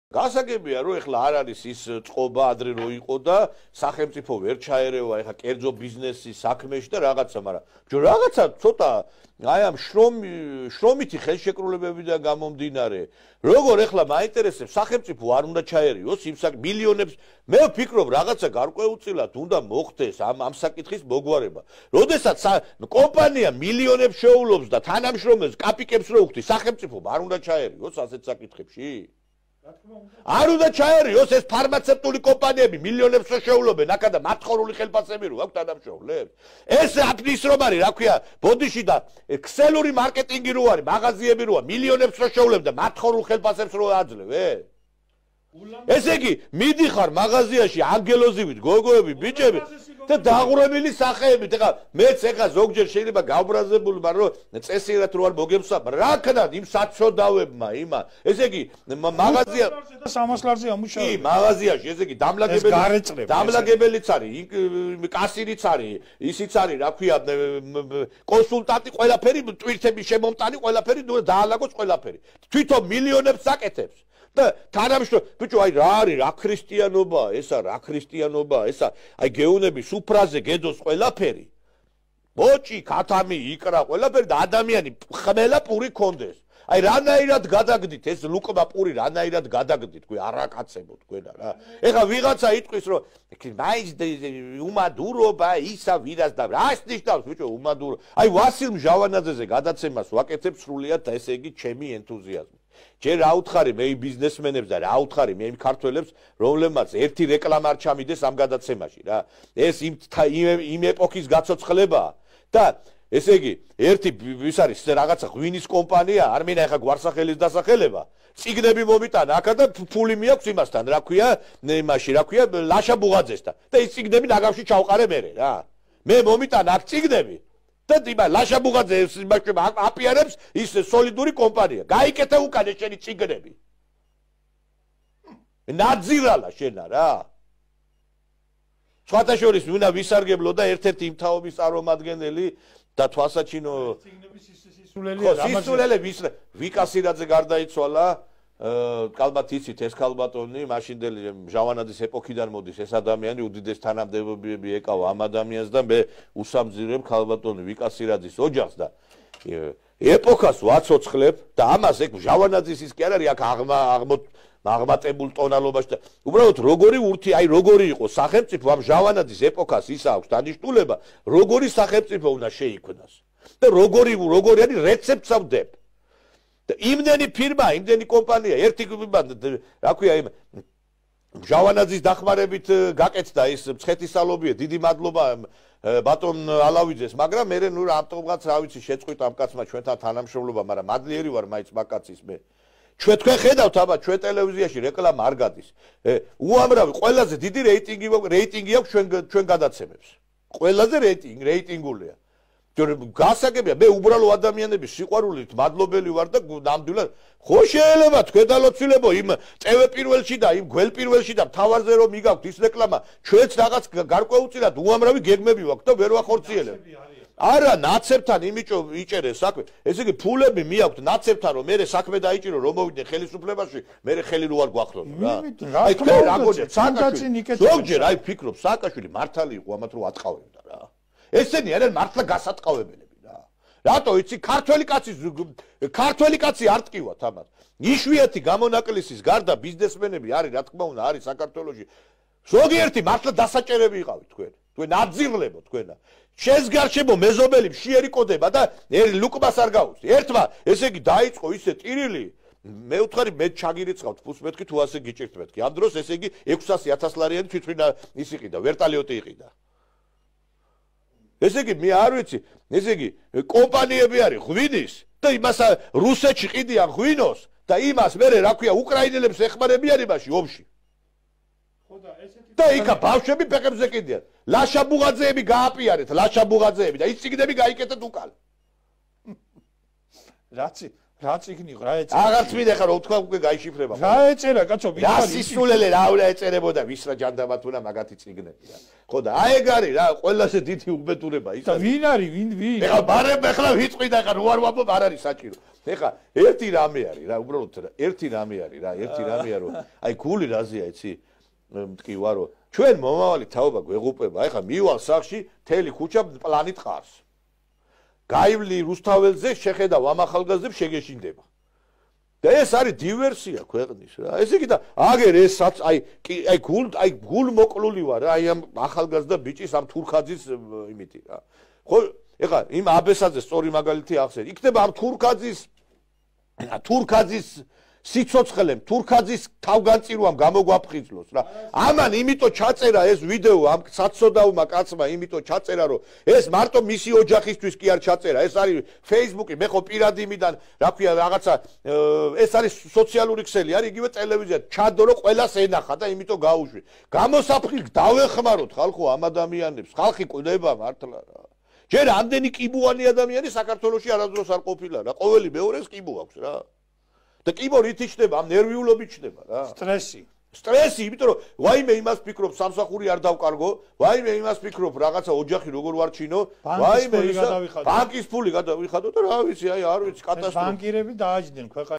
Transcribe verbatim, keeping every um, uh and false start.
გასაგებია რომ ეხლა არ არის ის წყობა ადრე რო იყო და სახელმწიფო ვერ ჩაერევა ეხლა კერძო ბიზნესის საქმეში და რაღაცა, მაგრამ ჯო რაღაცა ცოტა აი ამ შრომი შრომითი ხელშეკრულებებიდან გამომდინარე, როგორ ეხლა მაინტერესებს სახელმწიფო არ უნდა ჩაერიოს იმ მილიონებს, მე ვფიქრობ რაღაცა გარკვეულწილად უნდა მოხდეს ამ ამ საკითხის მოგვარება. როდესაც კომპანია მილიონებს შეულობს და თანამშრომელს კაპიკებს რო უხდის, სახელმწიფო არ უნდა ჩაერიოს ასეთ საკითხებში? არ უნდა ჩაერიოს ეს ფარმაცევტული კომპანიები მილიონებს რო შეულობენ, აქა და მათხოვრული ხელფასები რო აქვს თანამშრომლებს. ეს აფნის რომ არის, რა ქვია, ბოდიში და ქსელური მარკეტინგი რო არის, მაღაზიები როა, მილიონებს რო შეულებ და მათხოვრულ ხელფასებს რო აძლევ, ე? ესე იგი, მიდიხარ მაღაზიაში ანგელოზივით, გოგოები, ბიჭები და დაღურებული სახეებით. ეხლა მეც ეხლა ზოგჯერ შეიძლება გავბრაზებული, მაგრამ წესიერად რო არ მოგემსა, რა ქნათ იმ საცოდავებმა, იმა. ესე იგი, მაღაზია და სამას ლარზე ამუშავებს. კი, მაღაზიაში, ესე იგი, დამლაგებელი დამლაგებელიც არის, კასირიც არის, ისიც არის, რა ქვია, კონსულტანტი, ყველაფერი, ტვირთების შემომტანი, ყველაფერი, დაალაგოს ყველაფერი. თვითონ მილიონებს საკეთებს. და თანამშრომლ ბიჭო აი რა არის რა ქრისტიანობაა ესა რა ქრისტიანობაა ესა აი გეუნები სუფრაზე გედოს ყველაფერი ბოჭი ქათამი იკრა ყველაფერი და ადამიანი ხმელა პური კონდეს აი რანაირად გადაგდით ეს ლუკმა პური რანაირად გადაგდით თქვი არაკაცებო თქვენა რა ეხლა ვიღაცა იტყვის რომ მაინც უმადურობა ისა ვირას და რას ნიშნავს ბიჭო უმადურო აი ვასილ მჟავანაძეზე გადაცემას ვაკეთებ სრულიად ესე იგი ჩემი ენთუზიაზმი ჯერ რა უთხარი მე ბიზნესმენებს და რა უთხარი მე იმ ქართველებს რომლებმაც ერთი რეკლამა არ ჩამიდეს ამ გადაცემაში რა ეს იმ იმ ეპოქის გაცოცხლებაა და ესე იგი ერთი ვის არის რაღაცა ღვინის კომპანია არ მინდა ეხა გვარსახელის დასახელება ციგნები მომიტანა აქა და ფული მიაქვს იმასთან რა ქვია იმაში რა ქვია ლაშა ბუღაძესთან და ის ციგნები ნაგავში ჩავყარე მერე რა მე მომიტანა აქ ციგნები და იბა ლაშა ბუღაძე იმაში აპიარებს ის სოლიდური კომპანია. გაიკეთე უკან შენი ციგნები. ნაძირალა შენა რა. სხვათა შორის ვინა ვისარგებლო და ერთ-ერთი იმ თაობის წარმომადგენელი და თვალსაჩინო ციგნების სისულელია. სისულელე ვის ვიკასირაძე გარდაიცვალა კალბათ იცით ეს ქალბატონი მაშინდელი ჟავანაძის ეპოქიდან მოდის ეს ადამიანი უდიდეს თანამდებობები ეკავა ამ ადამიანს და მე უსამძირებ ქალბატონი ვიკასირაძის ოჯახს და ეპოქას ვაცოცხლებ და ამას ეგ ჟავანაძის ის კი არ არის აქ აღმატებულ ტონალობაში და უბრალოდ როგორი ურთი აი როგორი იყო სახელმწიფო ამ ჟავანაძის ეპოქას ის აქვს დანიშნულება როგორი სახელმწიფო უნდა შეიქმნას და როგორი როგორი არის რეცეპტს ავდებ იმდენი ფირმა, იმდენი კომპანია, ერთი რა ქვია იმ ჟავანაძის დახმარებით გაკეთდა ის მცხეთისალობია, დიდი მადლობა ბატონ ალავიძეს, მაგრამ მე ნუ რამტომღაც რა ვიცი შეწყვიტა ამ კაცმა ჩვენთან თანამშრომლობა, მაგრამ მადლიერი ვარ მაინც მაგაცის მე. ჩვენ თქვენ ხედავთ აბა ჩვენ ტელევიზიაში რეკლამა არ გადის. უამრავი ყველაზე დიდი რეიტინგი რეიტინგი აქვს ჩვენ ჩვენ გადაცემებს. ყველაზე რეიტინგი რეიტინგულია. გასაგებია მე უბრალო ადამიანების სიყვარულით მადლობელი ვარ და ნამდვილად ხო შეიძლება თქვენ დალოცილებო იმ წევე პირველში და იმ გველ პირველში და თავარზე რომ მიგაქვთ ის რეკლამა ჩვენც რაღაც გარკვეულწილად უამრავი გეგმები ვაქვთ და ვერ ვახორციელებ არა ნაცებთან იმიჭო იჭერე საქმე ესე იგი ფულები მიაქვთ ნაცებთან რომ მე საქმე დაიჭირო რომ მოვიდე ხელისუფლებაში მე ხელი რო არ გვახსოვთ რა აი თქვენ რა გონია სააკაშვილი ზოგჯერ აი ფიქრობ სააკაშვილი მართალი იყო ამათ რო ატყავებდა რა ესენი არიან მართლა გასატყავებელები რა. რატო იცი ქართველი კაცი ქართველი კაცი არ ტკივათ ამას. იშვიათი გამონაკლისის გარდა ბიზნესმენები არის რა თქმა უნდა არის საქართველოში. ზოგიერთი მართლა დასაჭერები იყავით თქვენ. თქვენ აძიღლებო თქვენა. შენს გარშემო მეზობელი მშიერი კოდება და ლუკმას არ გაუწი. ერთმა ესე იგი დაიწყო ისე ტირილი მე ვთხარი მე ჩაგირიცხავთ ფულს მეთქი თუ ასე გიჭირთ მეთქი. ამ დროს ესე იგი ექვსასი ათას ლარიანი თვითონ ის იყიდა ვერტალიოტი იყიდა. ესე იგი მე არ ვიცი, ესე იგი კომპანიები არის ღვინის და იმას რუსეთში ყიდიან ღვინოს და იმას მე რა ქვია უკრაინელებს ეხმარებიან იმაში ომში. ხო და ესეთი და იქა ბავშვები ფეხებზე ყიდიან. ლაშა ბუღაძეები გააპიარეთ, ლაშა ბუღაძეები და ის ციგნები გაიკეთეთ უკან. რაცი რა წიგნი რა ეწერა? აღარც მინდა ხარ უთქვა უკვე გაიშიფრება. რა ეწერა კაცო? რა სისულელე რა უნდა ეწერებოდა ვის რა ჯანდაბათუნა მაგათი წიგნები რა. ხო და აი ეგ არის რა ყველაზე დიდი უბედურება ის. და ვინ არის? ვინ ვინ? ეხლა ბარემ ეხლა ვიწყვი და ხარ უარ ვამბობ არ არის საჭირო. ეხლა ერთი რამე არის რა უბრალოდ ერთი რამე არის რა ერთი რამეა რომ აი გული რაზეა იცი? მტკი ვარო ჩვენ მომავალი თაობა გვეღუპება. ეხლა მივალ სახში თელი ქუჩა პლანით ყარს. გაივლი რუსთაველზე შეხედავ ამ ახალგაზრდებს შეგეშინდება. და ეს არის დივერსია ქვეყნის რა. ესე იგი და აგერ ესაც აი აი გულ აი გულ მოკლული ვარ რა აი ამ ახალგაზრდა ბიჭის ამ თურქაძის იმითი რა. ხო ეხლა იმ აბესაძე სწორი მაგალითი ახსენ. იქნება ამ თურქაძის თურქაძის სიცოცხლემ თურქაძის თავგანწირვამ გამოგვაფხიზლოს რა. ამან იმიტომ ჩაწერა ეს ვიდეო ამ საცოდაუმა კაცმა იმიტომ ჩაწერა რომ ეს მარტო მისი ოჯახისთვის კი არ ჩაწერა. ეს არის Facebook-ი, მე ხო პირადი იმიდან რა ქვია რაღაცა ეს არის სოციალური ქსელი, არის იგივე ტელევიზია. ჩადო რომ ყველას ენახა და იმიტომ გაუშვი. გამოსაფრთხილ დავეხმაროთ ხალხო ამ ადამიანებს. ხალხი კვდება მართლა რა. ჯერ ამდენი კიბუანი ადამიანი საქართველოში არასდროს არ ყოფილა რა. ყოველი მეორეს კიბო აქვს რა. და კიბო რით იჩნდება? ამ ნერვიულობით იჩნდება რა. სტრესი. სტრესი, იმიტომ რომ ვაიმე იმას ფიქრობ სამსახური არ დავკარგო, ვაიმე იმას ფიქრობ რაღაცა ოჯახი როგორ ვარჩინო, ვაიმე ისა ბანკის ფული გადავიხადო და რა ვიცი, აი არ ვიცი, კატასტროფა. ბანკირები დააჯდნენ ქვეყანას.